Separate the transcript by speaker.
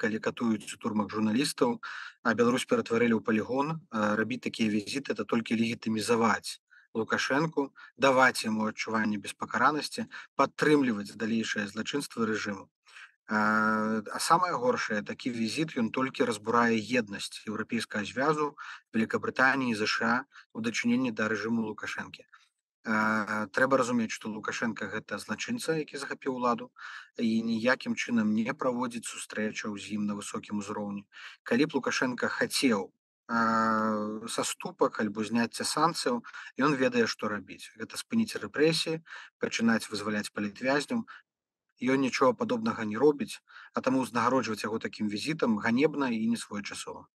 Speaker 1: калі катуюць у турмах журналістаў, а Беларусь ператварылі ў палігон, рабіць такія візіты это толькі легітымізаваць Лукашэнку, даваць яму адчуванне беспакаранасці, падтрымліваць далейшае злачынства рэжыму. А самае горшае, такі візіт ён толькі разбурае еднасць еўрапейскага звязу Великабрытаніі, ЗША у дачыненні да рэжыму Лукашэнкі. Трэба разумець, што Лукашенко гэта злачынца, які захапіў уладу і ніякім чынам не праводзіць сустрэчаў з ім на высокім узроўні. Калі б Лукашенко хацеў саступак альбо зняцця санкцыяў, ён ведае, што рабіць. Гэта спыніць рэпрэсіі, пачынаць вызваляць палітвязняў. Ён нічога падобнага не робіць, а таму узнагароджваць яго такім візітам ганебна і несвоечасова.